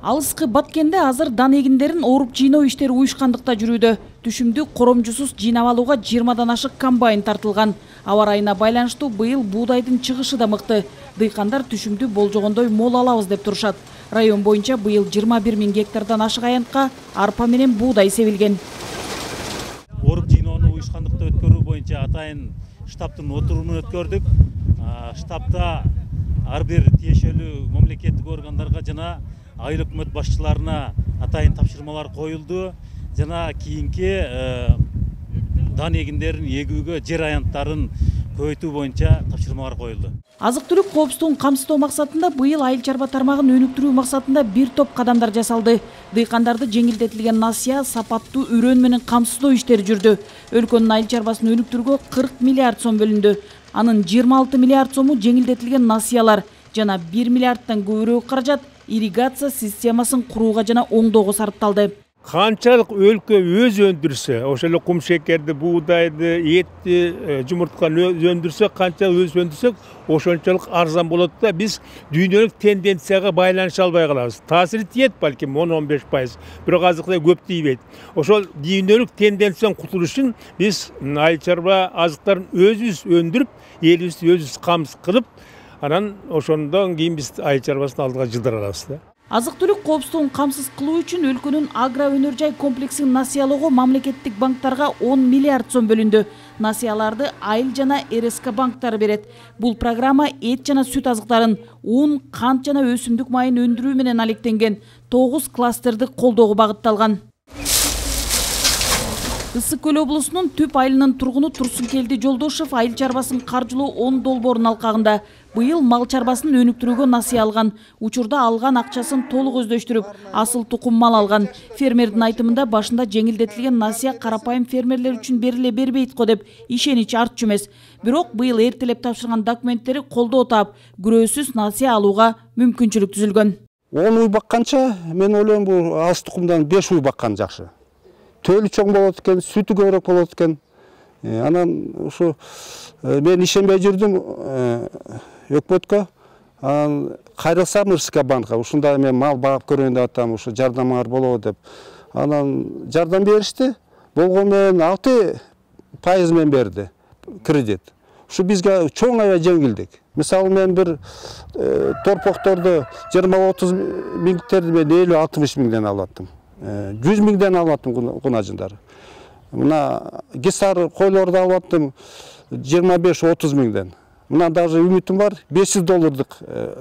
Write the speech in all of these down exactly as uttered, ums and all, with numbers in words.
Алыскы Баткенде азыр дан эгиндерин ооруп жыйноо иштери уюшкандыкта жүрүүдө. Түшүмдү коромжусуз жыйнап алууга жыйырмадан ашык комбайн тартылган. Аба ырайына байланыштуу быйыл буудайдын чыгышы да мыкты. Дыйкандар түшүмдү болжогондой мол алабыз деп турушат. Район боюнча быйыл жыйырма бир миң гектардан ашык аянтка арпа менен буудай себилген. Ооруп жыйноону уюшкандыкта өткөрүү боюнча атайын штабтын отурумун өткөрдүк. Штабта ар бир тиешелүү мамлекеттик органдарга жана айыл өкмөт башчыларына атайын тапшырмалар коюлду. Жана кийинки дан эгиндерин эгүүгө жер аянттарын көбөйтүү боюнча тапшырмалар коюлду. Азык-түлүк коопсуздугун камсыздоо максатында быйыл айыл чарба тармагын өнүктүрүү максатында бир топ кадамдар жасалды. Дыйкандарды жеңилдетилген насыя, сапаттуу үрөн менен камсыздоо иштери жүрдү. Өлкөнүн айыл чарбасын өнүктүрүүгө кырк миллиард сом бөлүндү. Анын жыйырма алты миллиард сому жеңилдетилген насыялар жана бир миллиардтан көбүрөөк каражат ирригация системасын курууга жана оңдоого сарпталды. Канчалык өлкө өз өндүрсө, ошол эле кум шекерди, буудайды, этти, жумуртканы өндүрсө, канча өз өндүрсөк, ошончолук арзан болот да биз дүйнөлүк тенденцияга байланыша албай калабыз. Таасири тиет балким он он беш пайыз, бирок азыркыдай көп тийбейт. Ошол дүйнөлүк тенденциядан кутулуш үчүн биз айыл чарба азыктарын өзүбүз өндүрүп, элибизди өзүбүз камсыз кылып, анан ошондон кийин биз айыл чарбасын алдыга жылдыра алабыз да. Азык-түлүк коопсуздугун камсыз кылуу үчүн өлкөнүн агро өнөр жай комплексин насыялоого мамлекеттик банктарга он миллиард сом бөлүндү. Насыяларды айыл жана эр эс ка банктары берет. Бул программа эт жана сүт азыктарын, ун, кант жана өсүмдүк майын өндүрүү менен алектенген тогуз кластерди колдоого багытталган. Ысык Көл облусунун Түп айылынын тургуну Турсункелди Жолдошев айыл чарбасын каржылоо он долбоорун алкагында. Быйыл мал чарбасын өнүктүрүүгө насыя алган. Учурда алган акчасын толук өздөштүрүп, асыл тукум мал алган. Фермердин айтымында башында жеңилдетилген насыя карапайым фермерлер үчүн бериле бербейт го деп ишенич артчу эмес. Бирок быйыл эртелеп тапшырган документтери колдоо таап, күрөөсүз насыя алууга мүмкүнчүлүк түзүлгөн. он уй бакканча мен ойлойм бул асыл тукумдан беш уй баккан жакшы. Төлү чоң болот экен, сүтү көбүрөөк болот экен. Анан ушу мен ишенбей жүрдүм өкмөткө. Анан кайрылсам эр эс ка банкка, ушундай мен мал багып көрөйүн деп атам, ушу жардамыңар болобу деп. Анан жардам беришти. Болгону менен алты пайыз менен берди кредит. Ушу бизге чоң аябай жеңилдик. Мисалы мен бир торпокторду жыйырма отуз миңдерди мен элүү алтымыш миңден алаттым. жүз миңден алаттым кунажындары. Мына гисар койлорду алаттым жыйырма беш отуз миңден. Мына даже үмүтүм бар, беш жүз доллардык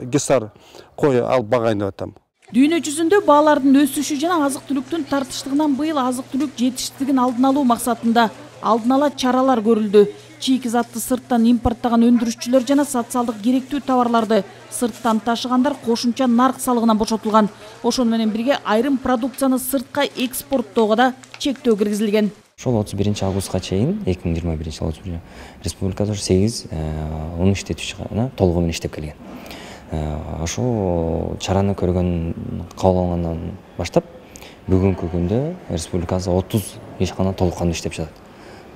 гисар кой алып багайын деп атам. Дүйнө жүзүндө баалардын өсүшү жана азык-түлүктүн тартыштыгынан быйыл азык-түлүк жетишсиздигин алдын алуу максатында алдын ала чаралар көрүлдү. Чийки затты сырттан импорттаган өндүрүшчүлөр жана социалдык керектүү товарларды сырттан ташыгандар кошумча нарк салыгынан бошотулган. Ошону менен бирге айрым продукцияны сыртка экспорттоого да чектөө киргизилген. Ошол отуз биринчи августка чейин эки миң жыйырма биринчи жылы республикада сегиз он иштетүүчү гана толугу менен иштеп келген. Ошол чараны көргөн кабыл алгандан баштап бүгүнкү күндө республикада отуз ишкана толук кандуу иштеп жатат.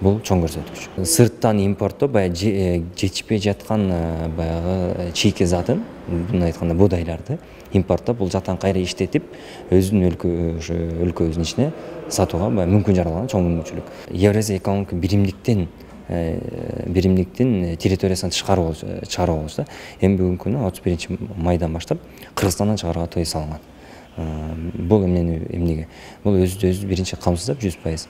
Бул чоң көрсөткүч. Сырттан импорттоо баягы жетишпей жаткан баягы чийки затын, мындай айтканда буудайларды импорттоп, бул жактан кайра иштетип, өзүнүн өлкө өлкөбүздүн ичине сатууга баягы мүмкүн жаралган чоң мүмкүнчүлүк. Евразия экономикалык биримдиктин биримдиктин территориясынан тышкары чыгаруу болчу да. Эми бүгүнкү күнү отуз биринчи майдан баштап Кыргызстандан чыгарууга тыюу салынган. Бул эмнени эмнеге? Бул өзү өзү биринчи камсыздап жүз пайыз.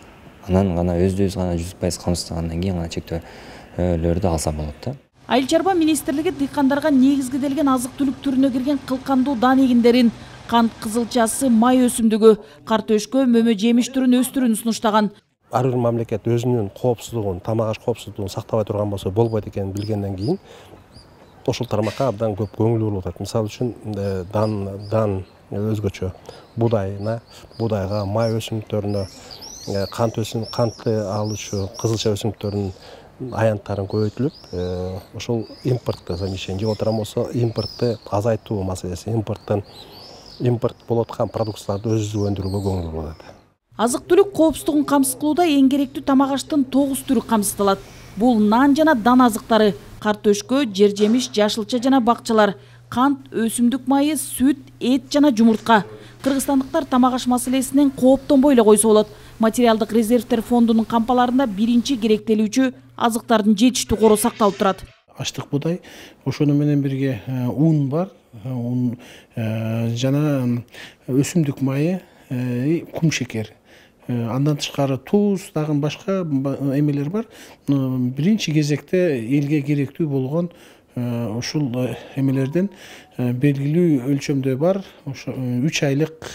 Анан гана өзү-өзү гана жүз пайыз камсыздагандан кийин гана чектөөлөрдү алса болот да. Айыл чарба министрлиги дыйкандарга негизгиделген азык-түлүк түрүнө кирген кылкандуу дан эгиндерин, кант кызылчасы, май өсүмдүгү, картөшкө, мөмө жемиш түрүн өстүрүүнү сунуштаган. Ар бир мамлекет өзүнүн коопсуздугун, тамак аш коопсуздугун сактабай турган болсо болбойт экенин билгенден кийин ошол тармакка абдан көп көңүл буруп атат. Мисалы үчүн дан дан өзгөчө буудайына, буудайга, май өсүмдүктөрүнө, кант өсүм, кантты алуучу кызылча өсүмдүктөрүнүн аянттарын көбөйтүлүп, ошол импортто замещение жеп отурган болсо, импортты азайтуу маселеси, импорттон импорт болуп аткан продукцияларды өзүбүз өндүрүүгө көңүл буруп атат. Азык-түлүк коопсуздугун камсыз кылууда эң керектүү тамак аштын тогуз түрү камсыздалат. Бул нан жана дан азыктары, картөшкө, жер жемиш, жашылча жана бакчалар, кант, өсүмдүк майы, сүт, эт жана жумуртка. Кыргызстандыктар тамак аш маселесинен кооптонбой эле койсо болот. Материалдык резервдер фондунун кампаларында биринчи керектелүүчү азыктардын жетиштүү кору сакталып турат. Аштык буудай, ошону менен бирге ун бар, ун жана өсүмдүк майы, кум шекер. Андан тышкары туз, дагы башка эмелер бар. Биринчи кезекте элге керектүү болгон ушул эмелерден белгилүү өлчөмдө бар. Ошо үч айлык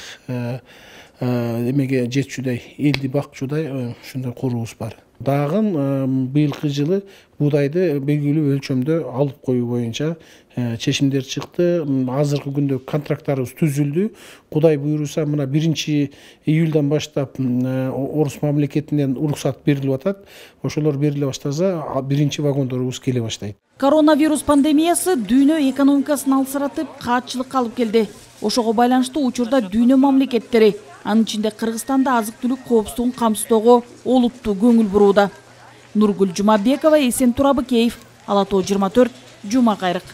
эмеге жетчүдөй, элди бакчудай ушундай корубуз бар. Дагы быйылкы жылы буудайды белгилүү өлчөмдө алып коюу боюнча чечимдер чыкты. Азыркы күндө контракттарыбыз түзүлдү. Кудай буйруса, мына биринчи июлдан баштап орус мамлекетинен уруксат берилип атат. Ошолор бериле баштаса, биринчи вагондорубуз келе баштайт. Коронавирус пандемиясы дүйнө экономикасын алсыратып, каатчылыкка алып келди. Ошого байланыштуу учурда дүйнө мамлекеттери, анын ичинде Кыргызстанда азык-түлүк коопсуздугун камсыздоого олуттуу көңүл бурууда. Нургүл Жумабекова, Эсен Турабыкеев, Ала Тоо жыйырма төрт, Жума Кайрык.